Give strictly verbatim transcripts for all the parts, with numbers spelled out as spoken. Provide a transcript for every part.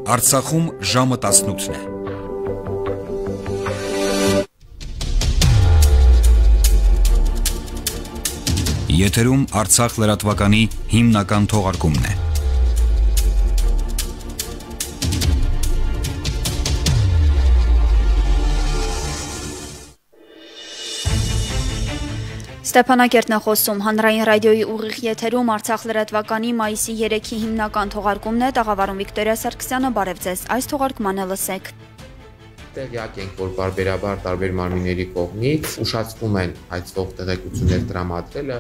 Արցախում ժամը տասնութն է։ Եթերում Արցախ լրատվականի հիմնական թողարկումն է։ Ստեփանակերտն է խոսում, հանրային ռադիոյի ուղիղ եթերում Արցախ լրատվականի մայիսի երեքի հիմնական թողարկումն է, տաղավարում Վիկտորիա Սարգսյանը, բարև ձեզ, այս թողարկմանը լսեք։ Տեղյակ ենք, որ բարբերաբար տարբեր մարմինների կողմից ուշացվում են այցվող տեղեկություններ տրամադրելը։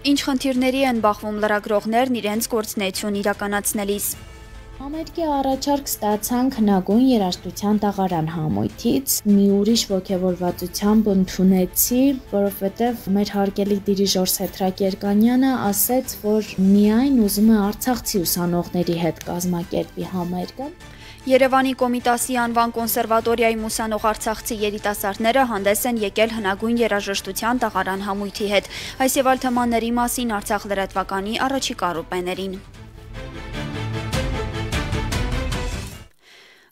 Ինչ խնդիրների են բախվում լրագրողներն իրենց գործունեություն իրականացնելիս։ Համերգի առաջարկ ստացանք հնագույն երաժշտության տաղարան համույթից, մի ուրիշ ոգևորվածությամբ ընդունեցի, որովհետև մեր հարգելի դիրիժոր Սեդրակ Երկանյանը ասեց, որ միայն ուզում է արցախցի ուսանողների հետ կազմակերպի համերգը։ Երևանի Կոմիտասի անվան կոնսերվատորիայում ուսանող արցախցի երիտասարդները հանդես են եկել հնագույն երաժշտության տաղարան համույթի հետ։ Այս եւ այլ թեմաների մասին Արցախ լրատվականի առաջիկա րոպեներին։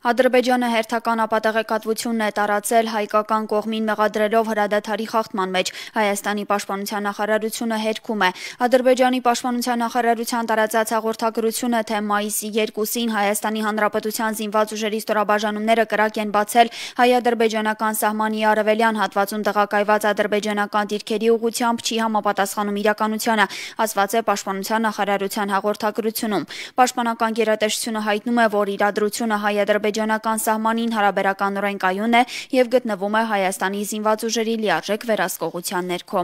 Ադրբեջանը հերթական ապատեղեկատվությունն է տարածել հայկական կողմին մեղադրելով հրադադարի խախտման մեջ։ Հայաստանի պաշտպանության նախարարությունը հերքում է։ Ադրբեջանի պաշտպանության նախարարության տարածած հաղորդագրությունը, թե մայիսի երկուսին Հայաստանի Հանրապետության զինված ուժերի ստորաբաժանումները կրակ են բացել հայ-ադրբեջանական սահմանի արևելյան հատվածում տեղակայված ադրբեջանական դիրքերի ուղղությամբ, չի համապատասխանում իրականությանը, ասված է պաշտպանության նախարարության հաղորդագրությունում։ Պաշտպանական գերատեսչությունը հայտնում է, որ իրադրությունը հայ-ադրբեջանական սահմանին հարաբերականորեն կայուն է եւ գտնվում է Հայաստանի զինված ուժերի լիարժեք վերահսկողության ներքո։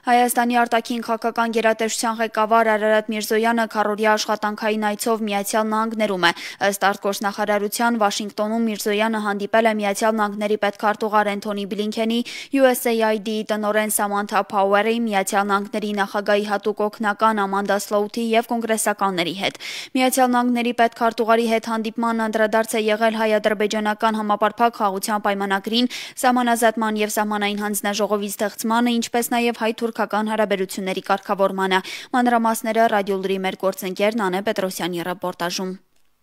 Հայաստանի արտաքին քաղաքական գերատեսչության ղեկավար Արարատ Միրզոյանը քառօրյա աշխատանքային այցով Միացյալ Նահանգներում է։ Ըստ արտգործնախարարության Վաշինգտոնում Միրզոյանը հանդիպել է Միացյալ Նահանգների պետքարտուղար Էնթոնի Բլինքենի, յու էս էյ այ դի տնօրեն Սամանթա Փաուերի, Միացյալ Նահանգների նախագահի հատուկ օգնական Ամանդա Սլոութի եւ կոնգրեսականների հետ։ Միացյալ Նահանգների պետքարտուղարի հետ հանդիպման անդրադարձ է եղել հայ-ադրբեջանական համապարփակ խաղաղության պայմանագրին, սահմանազատման եւ սահմանային հանձնաժողովի ստեղծմանը, ինչպես նաեւ հայ-թուրքական հարաբերությունների կարգավորմանը։ Մանրամասները ռադիոլուրի մեր գործընկեր Նանե Պետրոսյանի ռեպորտաժում։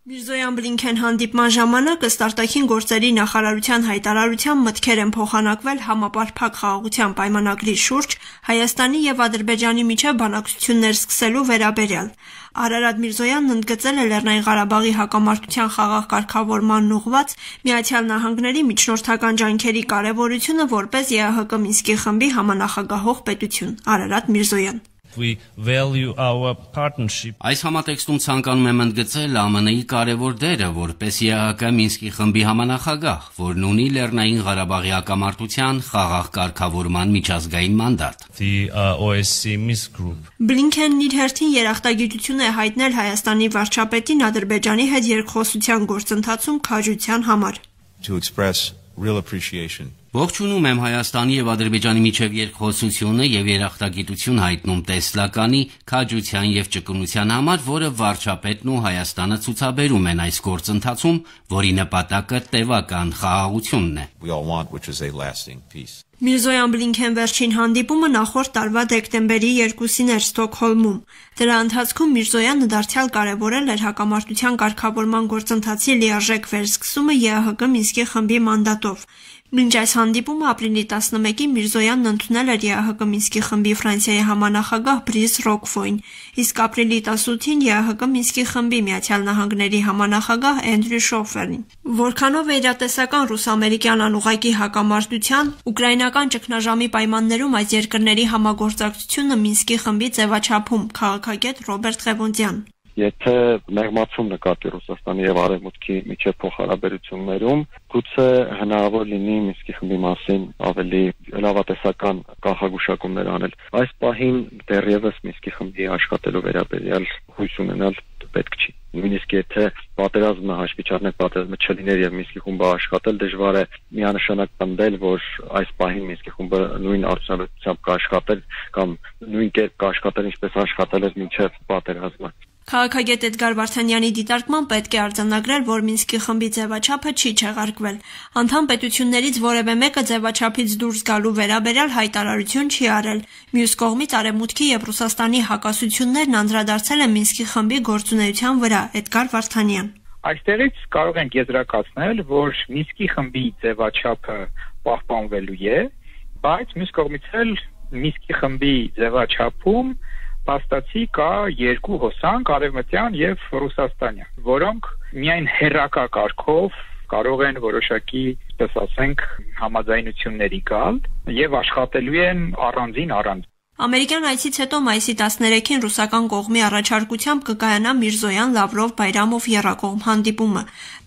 Միրզոյան-Բլինքեն հանդիպման ժամանակ ըստ արտաքին գործերի նախարարության հայտարարությամբ մտքեր են փոխանակվել համապարփակ խաղաղության պայմանագրի շուրջ Հայաստանի եւ Ադրբեջանի միջև բանակցություններ սկսելու վերաբերյալ։ Արարատ Միրզոյանն ընդգծել է Լեռնային Ղարաբաղի հակամարտության խաղաղ կարգավորմանն ուղղված Միացյալ Նահանգների միջնորդական ջանքերի կարևորությունը որպես ԵԱՀԿ Մինսկի խմբի համանախագահող պետություն։ Արարատ Միրզոյան։ We value our partnership. Այս համատեքստում ցանկանում եմ ընդգծել Ա Մ Ն-ի կարևոր դերը որպես ԵԱՀԿ Մինսկի խմբի համանախագահ, որն ունի Լեռնային Ղարաբաղի հակամարտության խաղաղ կարգավորման միջազգային մանդատ։ The uh, O S C Minsk Group. Բլինքենն իր հերթին երախտագիտություն է հայտնել Հայաստանի վարչապետին Ադրբեջանի հետ երկխոսության գործընթացում քաջության համար։ To express real appreciation. Ողջունում եմ Հայաստանի եւ Ադրբեջանի միջև երկխոսությունը եւ երախտագիտություն հայտնում տեսլականի, քաջության եւ ճկունության համար, որը վարչապետն ու Հայաստանը ցուցաբերում են այս գործընթացում, որի նպատակը տևական խաղաղությունն է։ We all want, which is a lasting peace. Միրզոյան-Բլինքեն վերջին հանդիպումը նախորդ տարվա դեկտեմբերի երկուսին էր Ստոկհոլմում։ Դրա ընթացքում Միրզոյանը դարձյալ կարևորել էր հակամարտության կարգավորման գործընթացի լիարժեք վերսկսումը ԵԱՀԿ Մինսկի խմբի մանդատով։ Մինչ այս հանդիպումը ապրիլի տասնմեկին Միրզոյանն ընդունել էր ԵԱՀԿ Մինսկի խմբի Ֆրանսիայի համանախագահ Բրիս Ռոկֆոյին, իսկ ապրիլի տասնութին ԵԱՀԿ Մինսկի խմբի Միացյալ Նահանգների համանախագահ Էնդրյու Շոֆերին։ Որքանով է իրատեսական ռուս-ամերիկյան անուղղակի հակամարտության, ուկրաինական ճգնաժամի պայմաններում այս երկրների համագործակցությունը Մինսկի խմբի ձևաչափում, քաղաքագետ Ռոբերտ Ղևոնդյան։ Եթե մեղմացում նկատի Ռուսաստանի եւ Արևմուտքի միջև փոխհարաբերություններում, գուցե հնարավոր լինի Մինսկի խմբի մասին ավելի լավատեսական կանխագուշակումներ անել։ Այս պահին դեռևս Մինսկի խմբի աշխատելու վերաբերյալ հույս ունենալ պետք չի։ Նույնիսկ եթե պատերազմը հաշվի չառնենք, պատերազմը չլիներ եւ Մինսկի խումբը աշխատել, դժվար է միանշանակ պնդել, որ այս պահին Մինսկի խումբը նույն արդյունավետությամբ կաշխատել կամ նույն կերպ կաշխատել, ինչպես աշխատել էր մինչև պատերազմը։ Քաղաքագետ Էդգար Վարդանյանի դիտարկման պետք է արձանագրել, որ Մինսկի խմբի ձևաչափը չի չեղարկվել։ Անդամ պետություններից որևէ մեկը ձևաչափից դուրս գալու վերաբերյալ հայտարարություն չի արել։ Մյուս կողմից Արևմուտքի եւ Ռուսաստանի հակասություններն անդրադարձել են Մինսկի խմբի գործունեության վրա։ Էդգար Վարդանյան։ Այստեղից կարող ենք եզրակացնել, որ Մինսկի խմբի ձևաչափը պահպանվելու է, բայց մյուս կողմից էլ Մինսկի խմբի ձևաչափում փաստացի կա երկու հոսանք՝ արևմտյան եւ ռուսաստանյան, որոնք միայն հերրակա կարգով կարող են որոշակի, այսպես ասենք, համաձայնությունների գալ եւ աշխատելու են առանձին առանձին։ Ամերիկյան այցից հետո մայիսի տասներեքին ռուսական կողմի առաջարկությամբ կկայանա Միրզոյան, Լավրով, Բայրամով եռակողմ հանդիպումը։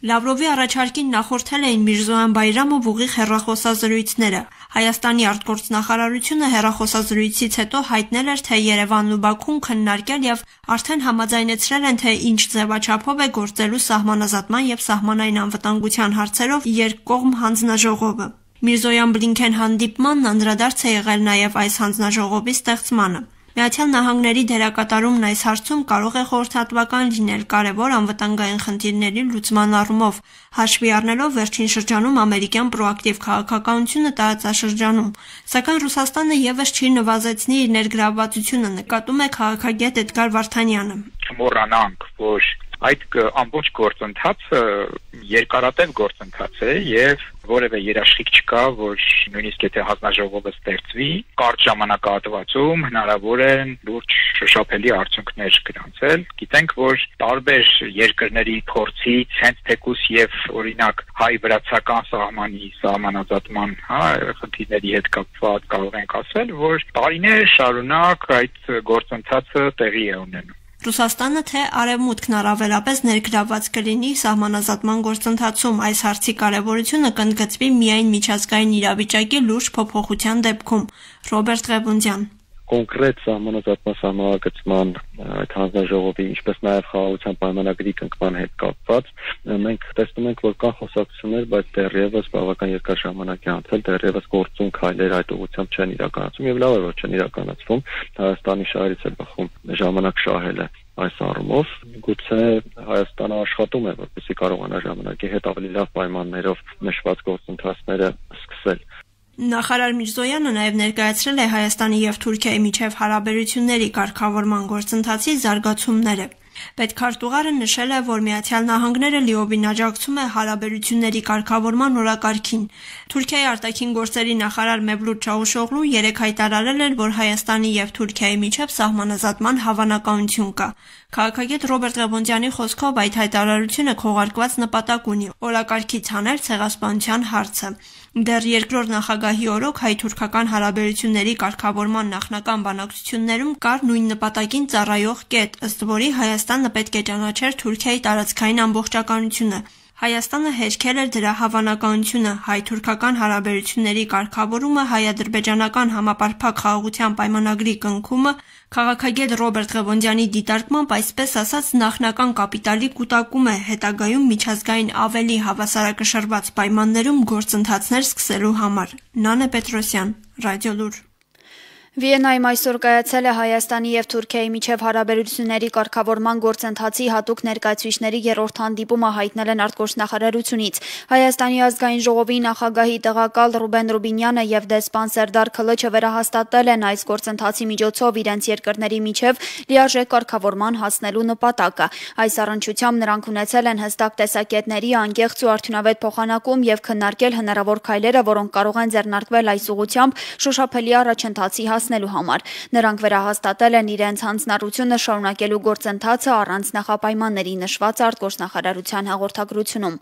Լավրովի առաջարկին նախորդել էին Միրզոյան, Բայրամով ուղիղ հեռախոսազրույցները։ Հայաստանի արտգործնախարարությունը հեռախոսազրույցից հետո հայտնել էր, թե Երևանն ու Բաքուն քննարկել եւ արդեն համաձայնեցրել են, թե ինչ ձևաչափով է գործելու սահմանազատման եւ սահմանային անվտանգության հարցերով երկկողմ հանձնաժողովը։ Միրզոյան-Բլինքեն հանդիպմանն անդրադարձ է եղել նաև այս հանձնաժողովի ստեղծմանը։ Միացյալ Նահանգների դերակատարումն այս հարցում կարող է խորհրդատվական լինել կարևոր անվտանգային խնդիրների լուծման առումով, հաշվի առնելով վերջին շրջանում ամերիկյան պրոակտիվ քաղաքականությունը տարածաշրջանում։ Սակայն Ռուսաստանը եւս չի նվազեցնի իր ներգրավվածությունը, նկատում է քաղաքագետ Էդգար Վարդանյանը։ Չմոռանանք, որ այդ ամբողջ գործընթացը երկարատև գործընթաց է եւ որևէ երաշխիք չկա, որ նույնիսկ եթե հանձնաժողովը ստեղծվի, կարճ ժամանակահատվածում հնարավոր են լուրջ շոշափելի արդյունքներ գրանցել։ Գիտենք, որ տարբեր երկրների փորձից հենց թեկուս եւ օրինակ հայ-վրացական սահմանի սահմանազատման, հա, խնդիրների հետ կապված կարող ենք ասել, որ տարիներ շարունակ այդ գործընթացը տեղի է ունենում։ Ռուսաստանը թե արևմուտքն առավելապես ներգրավված կլինի սահմանազատման գործընթացում, այս հարցի կարևորությունը կընդգծվի միայն միջազգային իրավիճակի լուրջ փոփոխության դեպքում։ Ռոբերտ Ղևոնդյան կոնկրետ սահմանազատման սահմանագծման այդ հանձնաժողովի, ինչպես նաև խաղաղության պայմանագրի կնքման հետ կապված, մենք տեսնում ենք, որ կան խոսակցություններ, բայց դեռևս բավական երկար ժամանակ է անցել, դեռևս գործուն քայլեր այդ ուղղությամբ չեն իրականացվում եւ լավ է, որ չեն իրականացվում։ Հայաստանի շահերից է բխում ժամանակ շահելը այս առումով։ Գուցե Հայաստանը աշխատում է, որպեսզի կարողանա ժամանակի հետ ավելի լավ պայմաններով նշված գործընթացները սկսել։ Նախարար Միրզոյանը նաև ներկայացրել է Հայաստանի եւ Թուրքիայի միջև հարաբերությունների կարգավորման գործընթացի զարգացումները։ Պետքարտուղարը նշել է, որ Միացյալ Նահանգները լիովին աջակցում է հարաբերությունների կարգավորման օրակարգին։ Թուրքիայի արտաքին գործերի նախարար Մևլութ Չավուշօղլուն երեկ հայտարարել էր, որ Հայաստանի եւ Թուրքիայի միջև սահմանազատման հավանականություն կա։ Քաղաքագետ Ռոբերտ Ղևոնդյանի խոսքով այդ հայտարարությունը քողարկված նպատակ ունի օրակարգից հանել ցեղասպանության հարցը։ Դեռ երկրորդ նախագահի օրոք հայ-թուրքական հարաբերությունների կարգավորման նախնական բանակցություններում կար նույն նպատակին ծառայող կետ, ըստ որի Հայաստանը պետք է ճանաչեր Թուրքիայի տարածքային ամբողջականությունը։ Հայաստանը հերքել էր դրա հավանականությունը, հայ-թուրքական հարաբերությունների կարգավորումը, հայ-ադրբեջանական համապարփակ խաղաղության պայմանագրի կնքումը, քաղաքագետ Ռոբերտ Ղևոնդյանի դիտարկմամբ այսպես ասած նախնական կապիտալի կուտակում է, հետագայում միջազգային ավելի հավասարակշռված պայմաններում գործընթացներ սկսելու համար։ Նանե Պետրոսյան, Ռադիոլուր։ Վիեննայում այսօր կայացել է Հայաստանի եւ Թուրքիայի միջև հարաբերությունների կարգավորման գործընթացի հատուկ ներկայացուցիչների երրորդ հանդիպումը հայտնել են արտգործնախարարությունից։ Հայաստանի ազգային ժողովի նախագահի տեղակալ Ռուբեն Ռուբինյանը եւ դեսպան Սերդար Քլիչը վերահաստատել են այս գործընթացի միջոցով իրենց երկրների միջև լիարժեք կարգավորման հասնելու նպատակը։ Այս առնչությամբ նրանք ունեցել են հստակ տեսակետների անկեղծ ու արդյունավետ փոխանակում եւ քննարկել հնարավոր քայլերը, որոնք կարող են ձեռնարկվել այս ուղղությամբ շոշափելի առաջընթացի հասնելու համար։ Նրանք վերահաստատել են իրենց հանձնառությունը շարունակելու գործընթացը առանց նախապայմանների նշված արտգործնախարարության հաղորդագրությունում։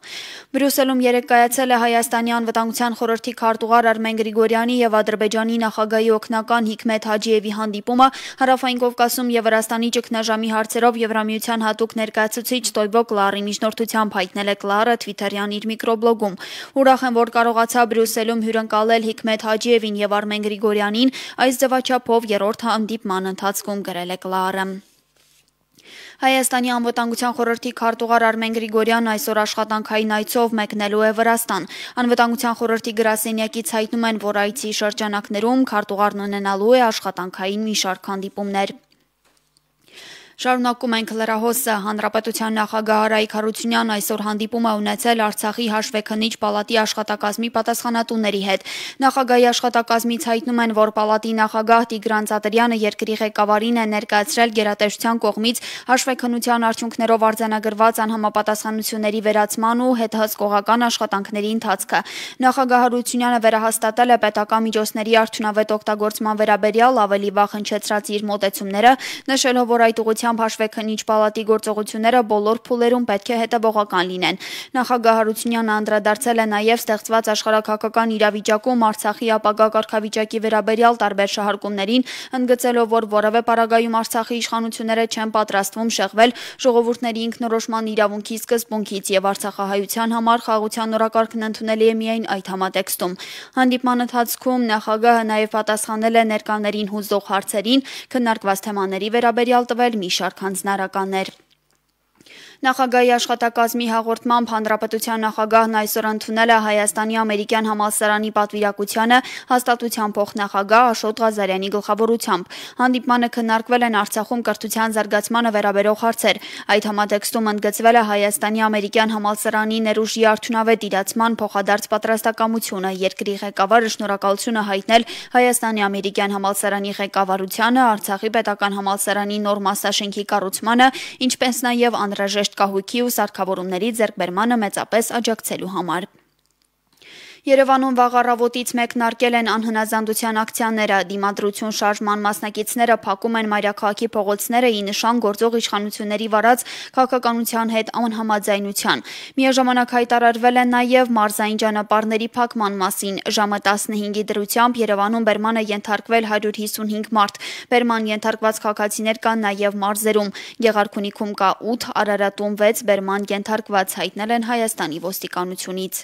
Բրյուսելում երեկ կայացել է Հայաստանի անվտանգության խորհրդի քարտուղար Արմեն Գրիգորյանի եւ Ադրբեջանի նախագահի օգնական Հիկմետ Հաջիևի հանդիպումը Հարավային Կովկասում եւ Վրաստանի ճգնաժամի հարցերով Եվրամիության հատուկ ներկայացուցիչ Ստոյվո Կլարի միջնորդությամբ հայտնել է Կլարը Թվիթերյան իր միկրոբլոգում։ Ուրախ եմ, որ կարողացա Բրյուսելում հյուրընկալել Հիկմետ Հաջիևին եւ Արմեն Գրիգորյանին, այս ձևաչափով երրորդ հանդիպման ընթացքում գրել է Կլարը։ Հայաստանի անվտանգության խորհրդի քարտուղար Արմեն Գրիգորյանն այսօր աշխատանքային այցով մեկնելու է Վրաստան։ Անվտանգության խորհրդի գրասենյակից հայտնում են, որ այցի շրջանակներում քարտուղարն ունենալու է աշխատանքային մի շարք հանդիպումներ։ Շարունակում ենք լրահոսը։ Հանրապետության նախագահ Արայիկ Հարությունյանն այսօր հանդիպում է ունեցել Արցախի հաշվեկնիչ պալատի աշխատակազմի պատասխանատուների հետ։ Նախագահի աշխատակազմից հայտնում են, որ պալատի նախագահ Տիգրան Ծատրյանը երկրի ղեկավարին է ներկայացրել գերատեսչության կողմից հաշվեկնության արդյունքներով արձանագրված անհամապատասխանությունների վերացման ու հետհսկողական աշխատանքների ընթացքը։ Նախագահ Հարությունյանը վերահաստատել է պետական միջոցների արդյունավետ օգտագործման վերաբերյալ ավելի վաղ հնչեցրած իր մոտեցումները, նշելով, որ այդ ուղղությամբ հաշվեկնիչ պալատի գործողությունները բոլոր փուլերում պետք է հետևողական լինեն։ Նախագահ Հարությունյանը անդրադարձել է նաև ստեղծված աշխարհաքաղաքական իրավիճակում Արցախի ապագա կարգավիճակի վերաբերյալ տարբեր շահարկումներին, ընդգծելով, որ որևէ պարագայում Արցախի իշխանությունները չեն պատրաստվում շեղվել ժողովուրդների ինքնորոշման իրավունքի սկզբունքից եւ արցախահայության համար խաղաղության օրակարգն ընդունելի է միայն այդ համատեքստում։ Հանդիպման ընթացքում նախագահը նաև պատասխանել է ներկաներին հուզող հարցերին, քննարկված թեմաների վերաբերյալ տվել մի շարք հանձնարարականներ։ Նախագահի աշխատակազմի հաղորդմամբ հանրապետության նախագահն այսօր ընդունել է Հայաստանի ամերիկյան համալսարանի պատվիրակությանը հաստատության փոխնախագահ Աշոտ Ղազարյանի գլխավորությամբ։ Հանդիպմանը քննարկվել են Արցախում կրթության զարգացմանը վերաբերող հարցեր։ Այդ համատեքստում ընդգծվել է Հայաստանի ամերիկյան համալսարանի ներուժի արդյունավետ իրացման փոխադարձ պատրաստակամությունը։ Երկրի ղեկավարը շնորհակալություն է հայտնել Հայաստանի ամերիկյան համալսարանի ղեկավարությանը, Արցախի պետական համալսարանի նոր մասաշենքի կառուցմանը, ինչպես նաև անհրաժեշտ կահույքի ու սարքավորումների ձեռքբերմանը մեծապես աջակցելու համար։ Երևանում վաղ առավոտից մեկնարկել են անհնազանդության ակցիաները։ Դիմադրություն շարժման մասնակիցները փակում են մայրաքաղաքի փողոցները ի նշան գործող իշխանությունների վարած քաղաքականության հետ անհամաձայնության։ Միաժամանակ հայտարարվել է նաև մարզային ճանապարհների փակման մասին։ Ժամը տասնհինգի դրությամբ Երևանում բերման է ենթարկվել հարյուր հիսունհինգ մարդ։ Բերման ենթարկված քաղաքացիներ կան նաև մարզերում։ Գեղարքունիքում կա ութ, Արարատում վեց բերման ենթարկված, հայտնել են Հայաստանի ոստիկանությունից։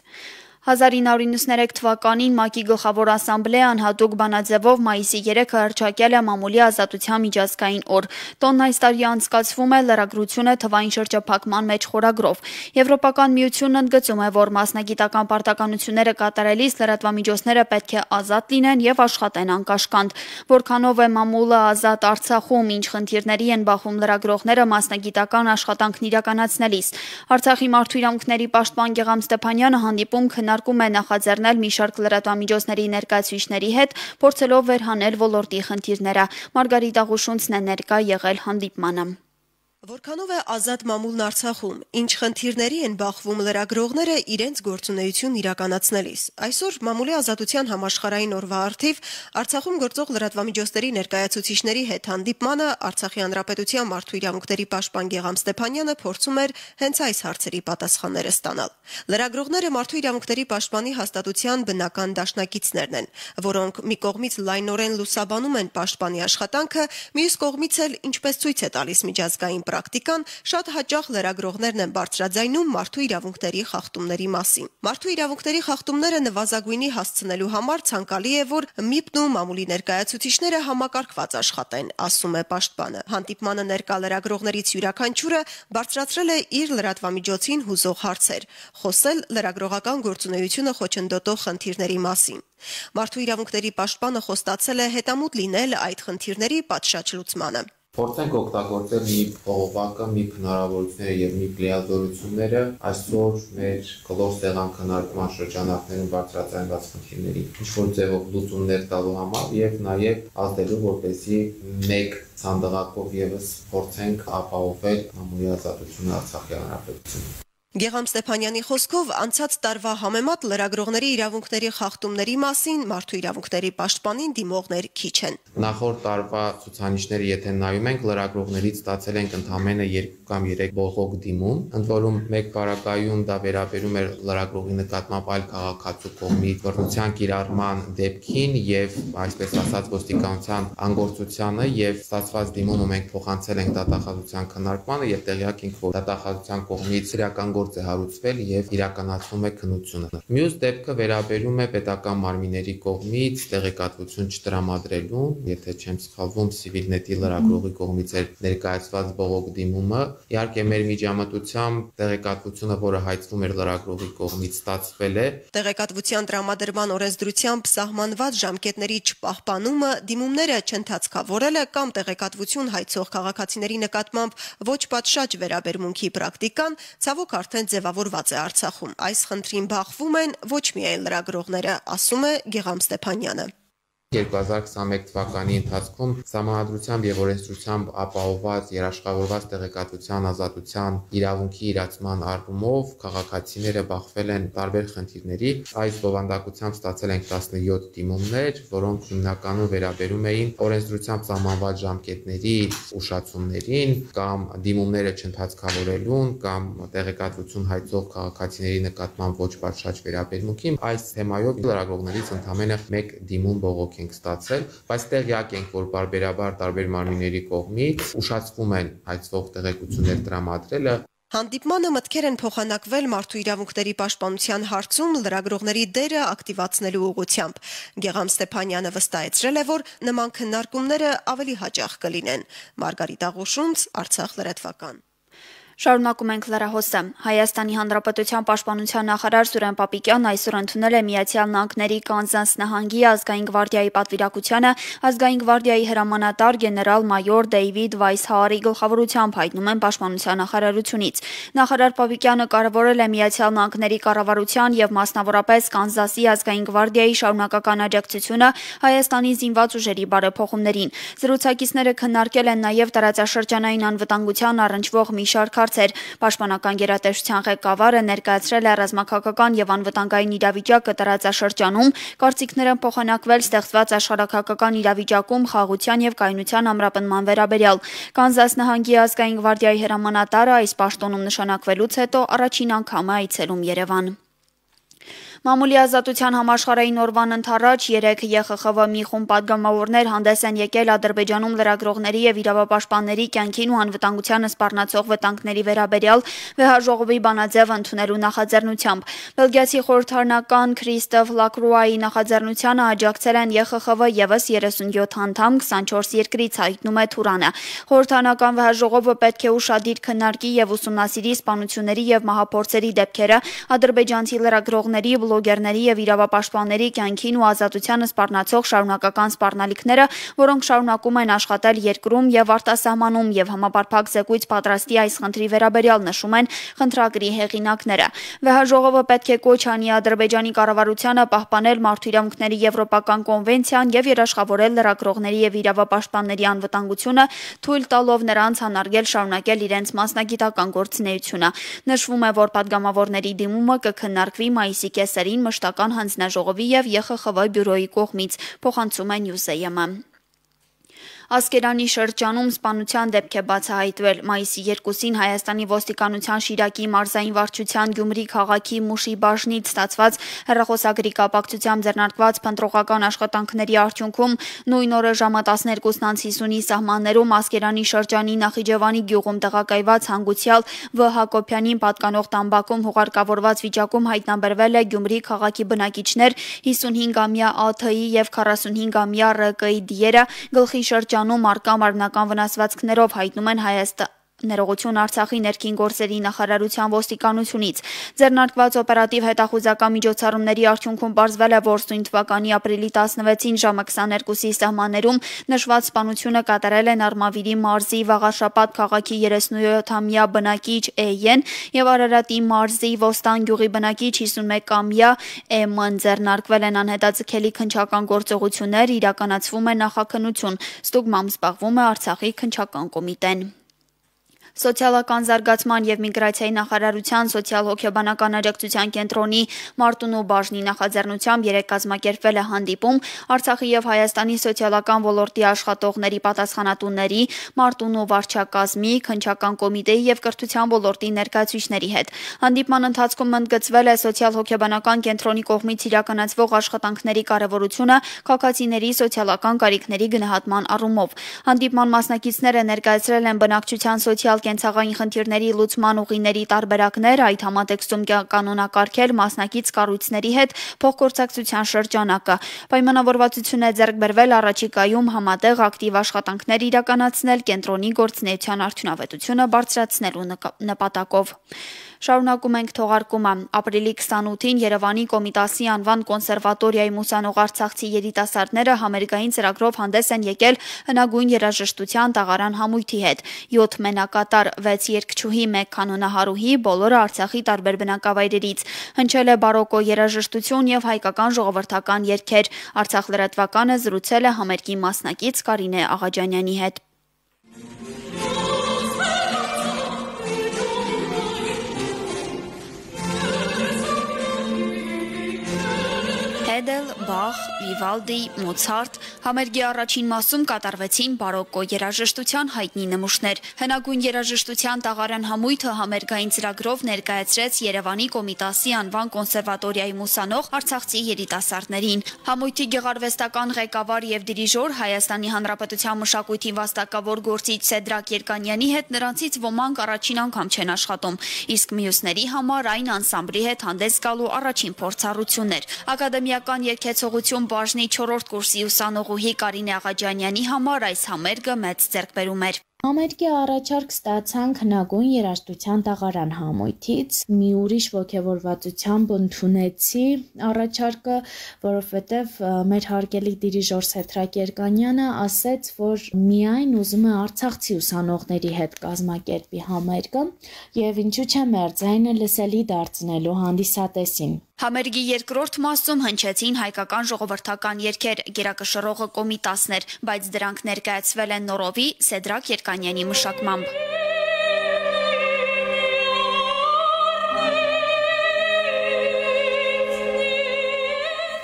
հազար ինը հարյուր նվաթ թվականին ՄԱԿ-ի գլխավոր ասամբլեան հատուկ բանաձևով մայիսի երեքը հռչակել է մամուլի ազատության միջազգային օր։ Տոնն այս տարի անցկացվում է լրագրությունը թվային շրջափակման մեջ խորագրով։ Եվրոպական միությունն ընդգծում է, որ մասնագիտական պարտականությունները կատարելիս լրատվամիջոցները պետք է ազատ լինեն եւ աշխատեն անկաշկանդ։ Որքանով է մամուլը ազատ Արցախում, ինչ խնդիրների են բախվում լրագրողները մասնագիտական աշխատանքն իրականացնելիս։ Արցախի մարդու իրավունքների պաշտպան Գեգամ Ստեփանյանը հանդիպում քննարկում է նախաձեռնել մի շարք լրատվամիջոցների ներկայացուցիչների հետ, փորձելով վերհանել ոլորտի խնդիրները։ Մարգարիտ Աղուշունցն է ներկա եղել հանդիպմանը։ Որքանով է ազատ մամուլն Արցախում, ինչ խնդիրների են բախվում լրագրողները իրենց գործունեություն իրականացնելիս։ Այսօր մամուլի ազատության համաշխարհային օրվա առթիվ Արցախում գործող լրատվամիջոցների ներկայացուցիչների հետ հանդիպմանը Արցախի հանրապետության մարդու իրավունքների պաշտպան Գեգամ Ստեփանյանը փորձում էր հենց այս հարցերի պատասխանները ստանալ։ Լրագրողները մարդու իրավունքների պաշտպանի հաստատության բնական դաշնակիցներն են, որոնք մի կողմից լայնորեն լուսաբանում են պաշտպանի աշխատանքը, մյուս կողմից էլ, ինչպես ցույց է տալիս միջազգային պրակտիկան, շատ հաճախ լրագրողներն են բարձրաձայնում մարդու իրավունքների խախտումների մասին։ Մարդու իրավունքների խախտումները նվազագույնի հասցնելու համար ցանկալի է, որ ՄԻՊ-ն ու մամուլի ներկայացուցիչները համակարգված աշխատեն, ասում է պաշտպանը։ Հանդիպմանը ներկա լրագրողներից յուրաքանչյուրը բարձրացրել է իր լրատվամիջոցին հուզող հարցեր, խոսել լրագրողական գործունեությունը խոչընդոտող խնդիրների մասին։ Մարդու իրավունքների պաշտպանը խոստացել է հետամուտ լինել այդ խնդիրների պատշաճ լուծմանը։ Փորձենք օգտագործել մի փողովակը, մի հնարավորությունները եւ մի լիազորությունները այսօր մեր գլոր սեղան քննարկման շրջանակներում բարձրացած խնդիրների ինչ-որ ձևով լուծումներ տալու համար եւ նաեւ ազդելու, որպեսզի մեկ ցանդղակով եւս փորձենք ապահովել մամուլի ազատությունը Արցախի հանրապետությունում։ Գեգամ Ստեփանյանի խոսքով անցած տարվա համեմատ լրագրողների իրավունքների խախտումների մասին մարդու իրավունքների պաշտպանին դիմողներ քիչ են։ Նախորդ տարվա ցուցանիշները եթե նայում ենք, լրագրողներից ստացել ենք ընդամենը երկու կամ երեք բողոք դիմում, ընդ որում մեկ պարագայում դա վերաբերում էր լրագրողի նկատմամբ այլ քաղաքացու կողմից բռնության կիրառման դեպքին եւ այսպես ասած ոստիկանության անգործությանը եւ ստացված դիմումը մենք փոխանցել ենք դատախազության քննարկմանը եւ տեղյակ ենք, որ դատախազության կողմից իրական նախագործ է հարուցվել եւ իրականացվում է քննությունը։ Մյուս դեպքը վերաբերում է պետական մարմինների կողմից տեղեկատվություն չտրամադրելուն, եթե չեմ սխալվում, Civilnet-ի լրագրողի կողմից էր ներկայացված բողոք դիմումը։ Իհարկե մեր միջամտությամբ տեղեկատվությունը, որը հայցվում էր լրագրողի կողմից, ստացվել է։ Տեղեկատվության տրամադրման օրենսդրությամբ սահմանված ժամկետների չպահպանումը դիմումները չընթացքավորելը կամ տեղեկատվություն հայցող քաղաքացիների նկատմամբ ոչ պատշաճ վերաբերմունքի պրակտիկան ցավոք արդեն ձևավորված է Արցախում։ Այս խնդրին բախվում են ոչ միայն լրագրողները, ասում է Գեգամ Ստեփանյանը։ երկու հազար քսաներկու թվականի ընթացքում Սահմանադրությամբ եւ օրենսդրությամբ ապահովված երաշխավորված տեղեկատվության ազատության իրավունքի իրացման առումով քաղաքացիները բախվել են տարբեր խնդիրների։ Այս բովանդակությամբ ստացել ենք տասնյոթ դիմումներ, որոնք հիմնականում վերաբերում էին օրենսդրությամբ սահմանված ժամկետների ուշացումներին կամ դիմումները չընթացքավորելուն կամ տեղեկատվություն հայցող քաղաքացիների նկատմամբ ոչ պատշաճ վերաբերմունքին։ Այս թեմայով լրագրողներից ընդամենը մեկ դիմում բողոք ենք ստացել, բայց տեղյակ ենք, որ բարբերաբար տարբեր մարմինների կողմից ուշացվում են հայցվող տեղեկություններ տրամադրելը։ Հանդիպմանը մտքեր են փոխանակվել մարդու իրավունքների պաշտպանության հարցում լրագրողների դերը ակտիվացնելու ուղղությամբ։ Գեգամ Ստեփանյանը վստահեցրել է, որ նման քննարկումները ավելի հաճախ կլինեն։ Մարգարիտ Աղուշունց, Արցախ լրատվական։ Շարունակում ենք լրահոսը։ Հայաստանի Հանրապետության պաշտպանության նախարար Սուրեն Պապիկյանն այսօր ընդունել է Միացյալ Նահանգների Կանզաս նահանգի ազգային գվարդիայի պատվիրակությանը ազգային գվարդիայի հրամանատար գեներալ-մայոր Դեյվիդ Վայսհաարի գլխավորությամբ, հայտնում են պաշտպանության նախարարությունից։ Նախարար Պապիկյանը կարևորել է Միացյալ Նահանգների կառավարության եւ մասնավորապես Կանզասի ազգային գվարդիայի շարունակական աջակցությունը Հայաստանի զինված ուժերի բարեփոխումներին։ Զրուցակիցները քննարկել են նաեւ տարածաշրջանային անվտանգության առնչվող մի շարք հարցեր։ Պաշտպանական գերատեսչության ղեկավարը ներկայացրել է ռազմաքաղաքական եւ անվտանգային իրավիճակը տարածաշրջանում, կարծիքներ են փոխանակվել ստեղծված աշխարհաքաղաքական իրավիճակում խաղաղության եւ կայունության ամրապնման վերաբերյալ։ Կանզաս նահանգի ազգային գվարդիայի հրամանատարը այս պաշտոնում նշանակվելուց հետո առաջին անգամ է այցելում Երևան։ Մամուլի ազատության համաշխարհային օրվան ընթառաջ երեք Ե Խ Խ V մի խումբ պատգամավորներ հանդես են եկել Ադրբեջանում լրագրողների եւ իրավապաշտպանների կյանքին ու անվտանգությանը սպառնացող վտանգների վերաբերյալ վեհաժողովի բանաձև ընդունելու նախաձեռնությամբ։ Բելգիացի խորհրդարանական Քրիստոֆ Լակրուայի նախաձեռնությանը աջակցել են Ե Խ Խ V եւս երեսունյոթ անդամ քսանչորս երկրից, հայտնում է Թուրանը։ Խորհրդարանական վեհաժողովը պետք է ուշադիր քննարկի եւ ուսումնասիրի սպանությունների եւ մահափորձերի դեպքերը ադրբեջանցի լրագրողների բլոգերների եւ իրավապաշտպանների կյանքին ու ազատությանը սպառնացող շարունակական սպառնալիքները, որոնք շարունակում են աշխատել երկրում եւ արտասահմանում եւ համապարփակ զեկույց պատրաստի այս խնդրի վերաբերյալ, նշում են խնդրագրի հեղինակները։ Վեհաժողովը պետք է կոչ անի Ադրբեջանի կառավարությանը պահպանել մարդու իրավունքների եվրոպական կոնվենցիան եւ երաշխավորել լրագրողների եւ իրավապաշտպանների անվտանգությունը, թույլ տալով նրանց անարգել շարունակել իրենց մասնագիտական գործունեությունը։ Նշվում է, որ պատգամավորների դիմումը կքննարկվի մայիսի կեսերին մշտական հանձնաժողովի եւ Ե Խ Խ V բյուրոյի կողմից, փոխանցում է Նյուզեյ-ը։ Ասկերանի շրջանում սպանության դեպք է բացահայտվել։ Մայիսի երկուսին Հայաստանի ոստիկանության Շիրակի մարզային վարչության Գյումրի քաղաքի Մուշի բաժնից ստացված հեռախոսագրի կապակցությամբ ձեռնարկված փնտրողական աշխատանքների արդյունքում նույն օրը ժամը տասներկուսն անց հիսունի սահմաններում Ասկերանի շրջանի Նախիջևանի գյուղում տեղակայված հանգուցյալ Վ Հակոբյանին պատկանող տամբակում հուղարկավորված վիճակում հայտնաբերվել է Գյումրի քաղաքի բնակիչներ հիսունհինգամյա Ա Թ-ի եւ քառասունհինգամյա R Կ-ի դիերը գլխի շրջանում արկա մարմնական վնասվածքներով, հայտնում են Հայաստան Ներողություն Արցախի ներքին գործերի նախարարության ոստիկանությունից։ Ձեռնարկված օպերատիվ հետախուզական միջոցառումների արդյունքում պարզվել է, որ սույն թվականի ապրիլի տասնվեցին ժամը քսաներկուսի սահմաններում նշված սպանությունը կատարել են Արմավիրի մարզի Վաղարշապատ քաղաքի երեսունյոթամյա բնակիչ Է-ն եւ Արարատի մարզի Ոստան գյուղի բնակիչ հիսունմեկամյա Է-ն։ Ձեռնարկվել են անհետաձգելի քննչական գործողություններ, իրականացվում է նախաքննություն։ Ստուգմամբ զբաղվում է Արցախի քննչական կոմիտեն։ Սոցիալական զարգացման եւ միգրացիայի նախարարության սոցիալ-հոգեբանական աջակցության կենտրոնի Մարտունու բաժնի նախաձեռնությամբ երեկ կազմակերպվել է հանդիպում Արցախի եւ Հայաստանի սոցիալական ոլորտի աշխատողների, պատասխանատուների, Մարտունու վարչակազմի, քննչական կոմիտեի եւ կրթության ոլորտի ներկայացուցիչների հետ։ Հանդիպման ընթացքում ընդգծվել է սոցիալ-հոգեբանական կենտրոնի կողմից իրականացվող աշխատանքների կարեւորությունը քաղաքացիների սոցիալական կարիքների գնահատման առումով։ Հանդիպման մասնակիցները ներկայացրել են բնակչության սոցիալ կենցաղային խնդիրների լուծման ուղիների տարբերակներ, այդ համատեքստում կանոնակարգել մասնակից կառույցների հետ փոխգործակցության շրջանակը։ Պայմանավորվածություն է ձեռք բերվել առաջիկայում համատեղ ակտիվ աշխատանքներ իրականացնել կենտրոնի գործունեության արդյունավետությունը բարձրացնելու նպատակով։ Շարունակում ենք թողարկումը։ Ապրիլի քսանութին Երևանի Կոմիտասի անվան կոնսերվատորիայի ուսանող արցախցի երիտասարդները համերգային ծրագրով հանդես են եկել հնագույն երաժշտության տաղարան համույթի հետ։ յոթ մենակատար, վեց երգչուհի, մեկ կանոնահարուհի, բոլորը Արցախի տարբեր բնակավայրերից։ Հնչել է բարոկո երաժշտություն եւ հայկական ժողովրդական երգեր։ Արցախ լրատվականը զրուցել է համերգի մասնակից Կարինե Աղաջանյանի հետ։ Հեդել, Բախ, Վիվալդի, Մոցարտ համերգի առաջին մասում կատարվեցին բարոկո երաժշտության հայտնի նմուշներ։ Հնագույն երաժշտության տաղարան համույթը համերգային ծրագրով ներկայացրեց Երևանի Կոմիտասի անվան կոնսերվատորիայի ուսանող արցախցի երիտասարդներին։ Համույթի գեղարվեստական ղեկավար եւ դիրիժոր Հայաստանի Հանրապետության մշակույթի վաստակավոր գործիչ Սեդրակ Երկանյանի հետ նրանցից ոմանք առաջին անգամ չեն աշխատում, իսկ մյուսների համար այն անսամբլի հետ հանդես գալու առաջին փորձառությունն էր։ Ակադեմիական երգեցողություն բաժնի չորրորդ կուրսի ուսանողուհի Կարինե Աղաջանյանի համար այս համերգը մեծ ձեռքբերում էր։ Համերգի առաջարկ ստացանք հնագույն երաժշտության տաղարան համույթից, մի ուրիշ ոգևորվածությամբ ընդունեցի առաջարկը, որովհետև մեր հարգելի դիրիժոր Սեդրակ Երկանյանը ասեց, որ միայն ուզում է արցախցի ուսանողների հետ կազմակերպի համերգը եւ ինչու՞ չէ մեր ձայնը լսելի դարձնելու հանդիսատեսին։ Համերգի երկրորդ մասում հնչեցին հայկական ժողովրդական երգեր, գերակշռողը Կոմիտասն էր, բայց դրանք ներկայացվել են նորովի Սեդրակ Երկանյանի մշակմամբ։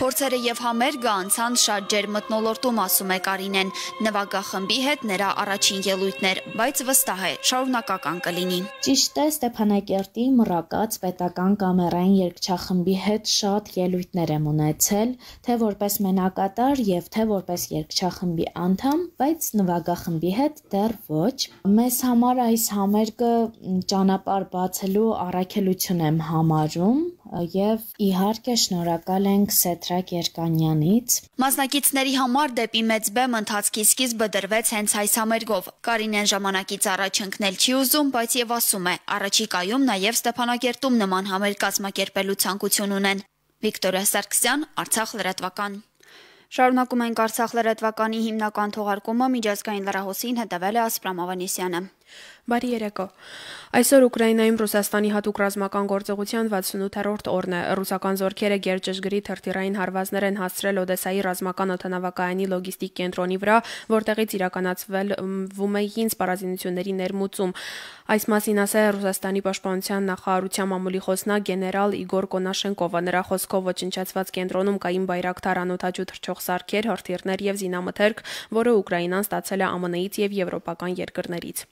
Փորձերը եւ համերգը անցան շատ ջերմ մթնոլորտում, ասում է Կարինեն։ Նվագախմբի հետ նրա առաջին ելույթներ, բայց վստահ է, շարունակական կլինի։ Ճիշտ է, Ստեփանակերտի Մռակած պետական կամերային երգչախմբի հետ շատ ելույթներ եմ ունեցել, թե որպես մենակատար եւ թե որպես երգչախմբի անդամ, բայց նվագախմբի հետ դեռ ոչ։ Մեզ համար այս համերգը ճանապարհ բացելու առաքելություն եմ համարում եւ իհարկե շնորհակալ ենք Սեդրակ Երկանյանից։ Մասնակիցների համար դեպի մեծ բեմ ընթացքի սկիզբը դրվեց հենց այս համերգով։ Կարինեն ժամանակից առաջ ընկնել չի ուզում, բայց եւ ասում է, առաջիկայում նաեւ Ստեփանակերտում նման համերգ կազմակերպելու ցանկություն ունեն։ Վիկտորիա Սարգսյան, Արցախ լրատվական։ Շարունակում ենք Արցախ լրատվականի հիմնական թողարկումը, միջազգային լրահոսին հետևել է Ասպրամ Ավանեսյանը։ Բարի երեկո։ Այսօր Ուկրաինայում Ռուսաստանի հատուկ ռազմական գործողության վաթսունութերորդ օրն է։ Ռուսական զորքերը գերճշգրիտ հրթիռային հարվածներ են հասցրել Օդեսայի ռազմական օդանավակայանի լոգիստիկ կենտրոնի վրա, որտեղից իրականացվում էին սպառազինությունների ներմուծում։ Այս մասին ասել է Ռուսաստանի պաշտպանության նախարարության մամուլի խոսնակ գեներալ Իգոր Կոնաշենկովը։ Նրա խոսքով ոչնչացված կենտրոնում կային բայրակթար անօդաչու թռչող սարքեր, հրթիռներ եւ զինամթերք, որը Ուկրաինան ստացել է ԱՄՆ -ից եւ եվրոպական երկրներից։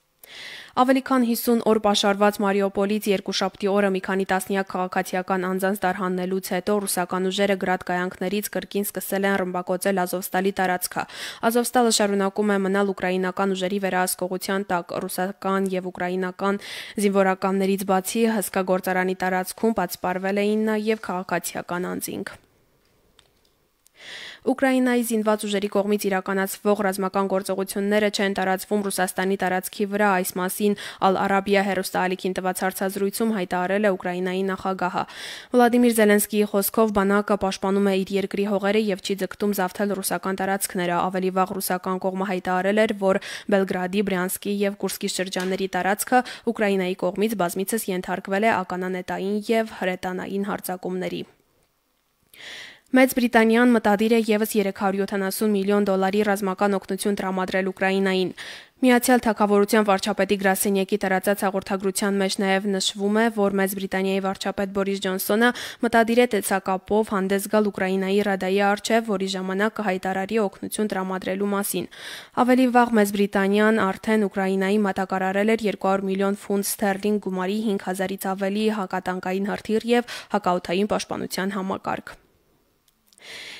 Ավելի քան հիսուն օր պաշարված Մարիուպոլից երկուշաբթի օրը մի քանի տասնյակ քաղաքացիական անձանց տարհանելուց հետո ռուսական ուժերը գրադ կայանքներից կրկին սկսել են ռմբակոծել Ազովստալի տարածքը։ Ազովստալը շարունակում է մնալ ուկրաինական ուժերի վերահսկողության տակ։ Ռուսական եւ ուկրաինական զինվորականներից բացի հսկա գործարանի տարածքում պատսպարվել էին նաեւ քաղաքացիական անձինք։ Ուկրաինայի զինված ուժերի կողմից իրականացվող ռազմական գործողությունները չեն տարածվում Ռուսաստանի տարածքի վրա, այս մասին Ալ-Արաբիա հեռուստաալիքին տված հարցազրույցում հայտարարել է Ուկրաինայի նախագահը։ Վլադիմիր Զելենսկիի խոսքով բանակը պաշտպանում է իր երկրի հողերը եւ չի ձգտում զավթել ռուսական տարածքները։ Ավելի վաղ ռուսական կողմը հայտարարել էր, որ Բելգրադի, Բրյանսկի եւ Կուրսկի շրջանների տարածքը Ուկրաինայի կողմից բազմիցս ենթարկվել է ականանետային եւ հրետանային հարձակումների։ Մեծ Բրիտանիան մտադիր է եւս երեք հարյուր յոթանասուն միլիոն դոլարի ռազմական օգնություն տրամադրել Ուկրաինային։ Միացյալ Թագավորության վարչապետի գրասենյակի տարածած հաղորդագրության մեջ նաև նշվում է, որ Մեծ Բրիտանիայի վարչապետ Բորիս Ջոնսոնը մտադիր է տեսակապով հանդես գալ Ուկրաինայի Ռադայի առջև, որի ժամանակ կհայտարարի օգնություն տրամադրելու մասին։ Ավելի վաղ Մեծ Բրիտանիան արդեն Ուկրաինայի մատակարարել էր երկու հարյուր միլիոն ֆունտ ստերլինգ գումարի հինգ հազարից ավելի հակատանկային հրթիռ եւ հակաօդային պաշտպանության համակարգ։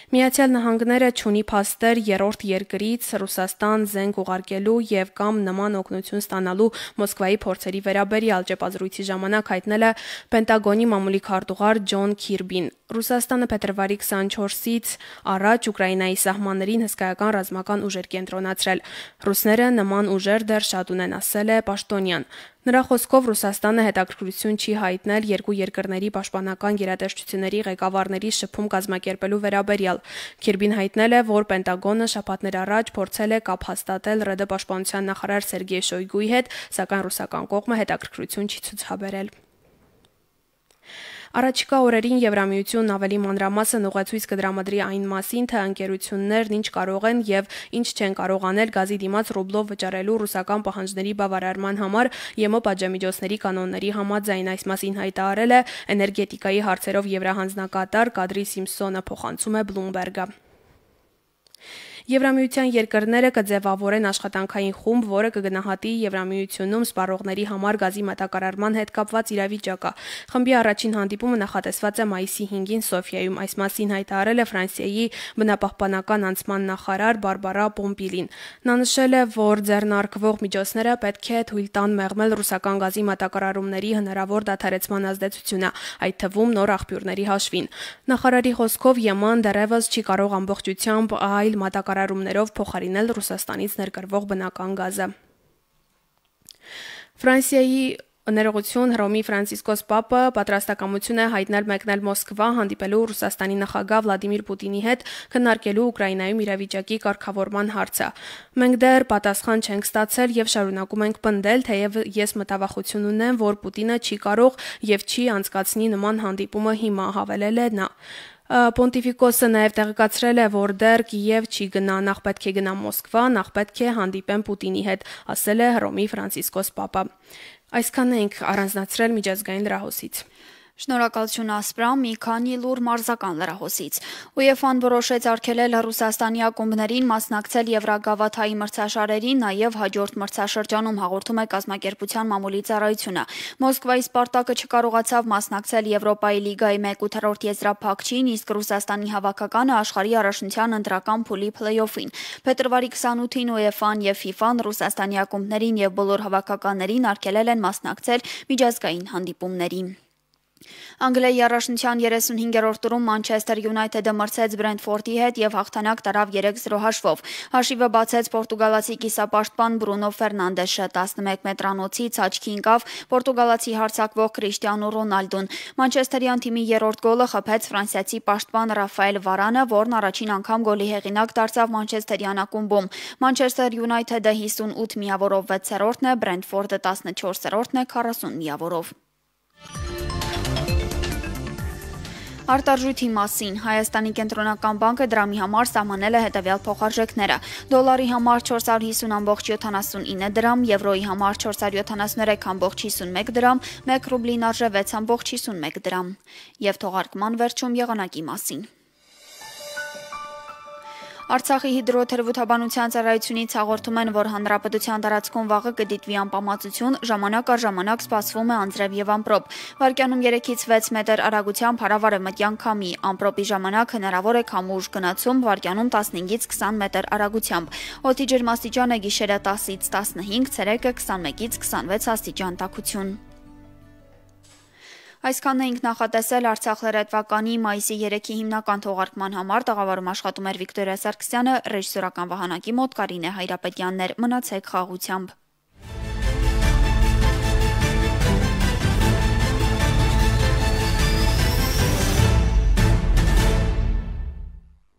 Միացյալ Նահանգները չունի փաստեր երրորդ երկրից Ռուսաստան զենք ուղարկելու եւ կամ նման օգնություն ստանալու Մոսկվայի փորձերի վերաբերյալ ճեպազրույցի ժամանակ հայտնել է Պենտագոնի մամուլի քարտուղար Ջոն Քիրբին։ Ռուսաստանը փետրվարի քսանչորսից առաջ Ուկրաինայի սահմաններին հսկայական ռազմական ուժեր կենտրոնացրել։ Ռուսները նման ուժեր դեռ շատ ունեն, ասել է պաշտոնյան։ Նրա խոսքով Ռուսաստանը հետաքրքրություն չի հայտնել երկու երկրների պաշտպանական գերատեսչությունների ղեկավարների շփում կազմակերպելու վերաբերյալ։ Քիրբին հայտնել է, որ Պենտագոնը շաբաթներ առաջ փորձել է կապ հաստատել ՌԴ պաշտպանության նախարար Սերգեյ Շոյգուի հետ, սակայն ռուսական կողմը հետաքրքրություն չի ցուցաբերել։ Առաջիկա օրերին Եվրամիությունն ավելի մանրամասն ուղեցույց կդրամադրի այն մասին, թե ընկերություններն ինչ կարող են եւ ինչ չեն կարող անել գազի դիմաց ռուբլով վճարելու ռուսական պահանջների բավարարման համար ԵՄ պատժամիջոցների կանոնների համաձայն։ Այս մասին հայտարարել է էներգետիկայի հարցերով եվրահանձնակատար Կադրի Սիմփսոնը, փոխանցում է Bloomberg-ը։ Եվրամիության երկրները կձևավորեն աշխատանքային խումբ, որը կգնահատի Եվրամիությունում սպառողների համար գազի մատակարարման հետ կապված իրավիճակը։ Խմբի առաջին հանդիպումը նախատեսված է մայիսի հինգին Սոֆիայում։ Այս մասին հայտարարել է Ֆրանսիայի բնապահպանական անցման նախարար Բարբարա Պոմպիլին։ Նա նշել է, որ ձեռնարկվող միջոցները պետք է թույլ տան մեղմել ռուսական գազի մատակարարումների հնարավոր դադարեցման ազդեցությունը, այդ թվում նոր աղբյուրների հաշվին։ Նախարարի խոսքով ԵՄ-ն դեռևս չի կարող ամբողջությամբ այլ մատակարարումներ Կարարումներով փոխարինել Ռուսաստանից ներկրվող բնական գազը։ Ֆրանսիայի ներողություն Հռոմի Ֆրանցիսկոս Պապը պատրաստակամություն է հայտնել մեկնել Մոսկվա հանդիպելու Ռուսաստանի նախագահ Վլադիմիր Պուտինի հետ քննարկելու Ուկրաինայում իրավիճակի կարգավորման հարցը։ Մենք դեռ պատասխան չենք ստացել եւ շարունակում ենք պնդել, թեև ես մտավախություն ունեմ, որ Պուտինը չի կարող եւ չի անցկացնի նման հանդիպումը հիմա, հավելել է նա։ Պոնտիֆիկոսը նաև տեղեկացրել է, որ դեռ Կիև չի գնա, նախ պետք է գնա Մոսկվա, նախ պետք է հանդիպեն Պուտինի հետ, ասել է Հռոմի Ֆրանցիսկոս Պապը։ Այսքանն ենք առանձնացրել միջազգային լրահոսից։ Շնորհակալություն Ասպրամ, մի քանի լուր մարզական լրահոսից։ ՈՒԵՖԱ-ն որոշեց արգելել Ռուսաստանի ակումբներին մասնակցել Եվրագավաթայի մրցաշարերին, նաև հաջորդ մրցաշրջանում, հաղորդում է կազմակերպության մամուլի ծառայությունը։ Մոսկվայի Սպարտակը չկարողացավ մասնակցել Եվրոպայի լիգայի մեկ ութերորդ եզրափակչին, իսկ Ռուսաստանի հավաքականը աշխարհի առաջնության ընտրական փուլի փլեյօֆին։ Փետրվարի քսանութին ՈՒԵՖԱ-ն եւ ՖԻՖԱ-ն Ռուսաստանի ակումբներին եւ բոլոր հավաքականներին արգելել են մասնակցել միջազգային հանդիպումներին։ Անգլիայի առաջնության երեսունհինգերորդ տուրում Մանչեսթեր Յունայթեդը մրցեց Բրենթֆորդի հետ եւ հաղթանակ տարավ երեք զրո հաշվով։ Հաշիվը բացեց պորտուգալացի կիսապաշտպան Բրունո Ֆերնանդեշը, տասնմեկ մետրանոցից աչքի ընկավ պորտուգալացի հարձակվող Քրիշտիանո Ռոնալդուն։ Մանչեսթերյան թիմի երրորդ գոլը խփեց ֆրանսիացի պաշտպան Ռաֆայել Վարանը, որն առաջին անգամ գոլի հեղինակ դարձավ մանչեսթերյան ակումբում։ Մանչեսթեր Յունայթեդը հիսունութ միավորով վեցերորդն է, Բրենթֆորդը տասնչորսերորդն է քառասուն միավորով։ Արտարժույթի մասին Հայաստանի կենտրոնական բանկը դրամի համար սահմանել է հետևյալ փոխարժեքները. դոլարի համար չորս հարյուր հիսուն կoma յոթանասունինը դրամ, եվրոյի համար չորս հարյուր յոթանասուներեք կoma հիսունմեկ դրամ, մեկ ռուբլին արժե վեց կoma հիսունմեկ դրամ։ Եվ թողարկման վերջում եղանակի մասին։ Արցախի հիդրոթերապևտաբանության ծառայությունից հաղորդում են, որ հանրապետության տարածքում վաղը կդիտվի անպամացություն, ժամանակ առ ժամանակ սպասվում է անձրև եւ ամպրոպ։ Վարկյանում երեքից վեց մետր արագությամբ հարավարևմտյան քամի, ամպրոպի ժամանակ հնարավոր է քամու ուժ գնացում, վարկյանում տասնհինգից քսան մետր արագությամբ։ Օդի ջերմաստիճանը գիշերը տասից տասնհինգ, ցերեկը քսանմեկից քսանվեց աստիճան տաքություն։ Այսքանն էինք նախատեսել Արցախ լրատվականի մայիսի երեքի հիմնական թողարկման համար, տաղավարում աշխատում էր Վիկտորիա Սարգսյանը, ռեժիսորական վահանակի մոտ Կարինե Հայրապետյանն էր, մնացեք խաղաղությամբ։